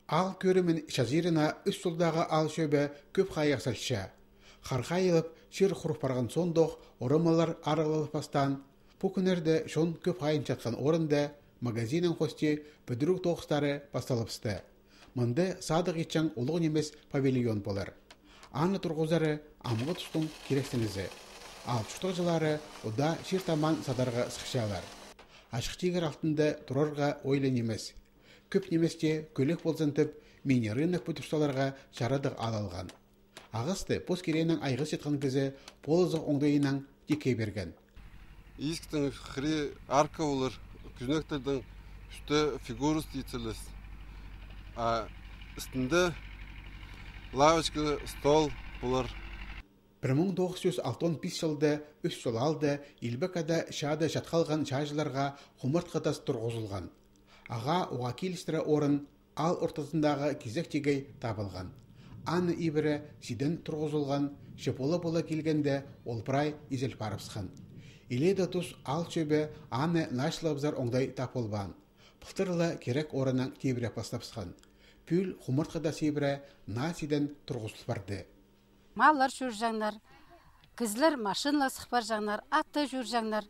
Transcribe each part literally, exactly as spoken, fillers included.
Аал кӧрімін чазирына Ӱс Чолдағы аал чӧбі кӧп хайығ салча. Хар хайылып, чир хуруп парған соонда ох орамалар арығлалып пастаан. Пу кӱннерде чон кӧп хайынчатхан орында магазиннің хости пӱдіріг тоғыстары пасталыбысты. Мында садығ итчең улуғ нимес павильон полар. Аны турғызары амғы тустың кирексінізі. Аал чуртағҷылары удаа чир-тамаан садарға сыхчалар. Ачых тигір алтында турарға ойлы нимес. Кӧп ниместе кӧлек ползын тіп, мини-рынок пӱдір саларға чарадығ аал алған. Ағасты пос кирегінең айғасчатхан кізі полызығ оңдайынаң тикке пирген. Изіктің хыри арка полар, кӱзенектернің ӱстӱ фигурус тиит салча. А істінде лавочка, стол полар. Пір муң тоғыс чӱс алтон пис чылда Ӱс Чол аалда Илбек Ада чаада чатхалған чааҷыларға хумартхы тас турғызылған. Ағаа уғаа килістіре орын аал ортазындағы кизек тигей табылған. Аны ибіре сиден турғызылған, че пола-пола килгенде ол прай изел парыбысхан. Илееде тус аал чӧбі аны нааҷылабызар оңдай тап полбаан. Пылтыр ла кирек орыннаң тибіре пастабысхан. Пӱӱл хумартхы тас ибіре наа сиден турғызыл парды. Маллар чӧрҷеңнер, кізілер машинала сых парҷаңнар, атты чӧрҷеңнер.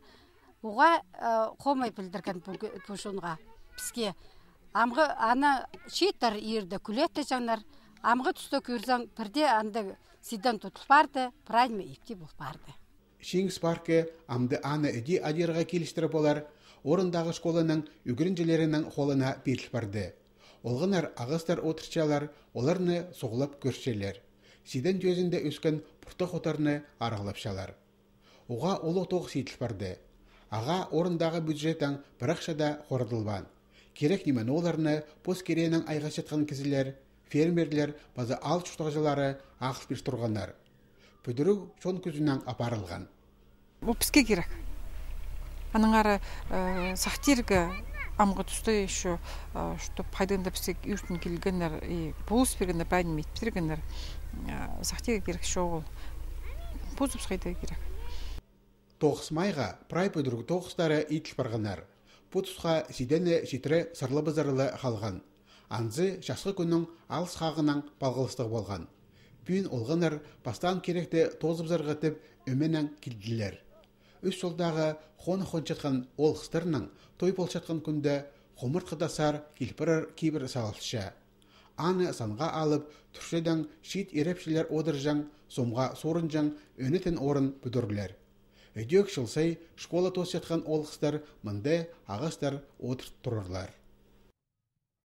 Уғаа, э, хомай пілдірген пу, пу чонға, піске. Амғы ана чииттер иирде кӱлеттеҷеңнер. Амғы туста кӧрзең, пірде анда сиден тутыл парды, прай ниме ипти пол парды. Чиңіс паркы амды аны іди адирға килістіре полар, орындағы школаның ӱгренҷілерінің холына пиріл парды. Олғаннар ағастар одыртчалар, оларны суғлап кӧрчелер. Сиден тӧзінде ӧскен пуртах оттарны арығлапчалар. Уғаа улуғ тоғыс иділ парды. Ағаа орындағы бюджеттең пір ахча даа хорадылбаан. Кирек ниме-нооларны пос кирегінең айғасчатхан кізілер, фермерлер паза аал чуртағҷылары ағыл пир турғаннар. Пӱдіріг чон кӱзінең апарылған. Ол піске кирек. Аннаңар, э, сахтирға амғы туста ещё, э, чтоб хайдаң даа піске ӧртін килгеннер, и полыс пиргеннер, прай ниме ит пиргеннер, э, сахтирға кирек чоғыл. Позыбыс хайда кирек. Тоғыс майға прай пӱдіріг тоғыстары иділ парғаннар. Пу тусха сидені читіре сарлабызар ла халған. Анзы часхы кӱннің алыс хағынаң палғалыстығ полған. Пӱӱн олғаннар пастаан киректі тоозыбызарға тіп ӧменең килділер. Ӱс Чолдағы хонах хончатхан оол-хыстарның той полчатхан кӱнде хумартхы тастар кил парар кибір салылча. Аны санға алып, тӱрчедең чиит ирепчілер одырҷаң, сомға суурынҷаң, ӧнетін орын пӱдірерлер. Ідӧк чыл сай школа тоосчатхан оол-хыстар мында ағастар одырт турарлар.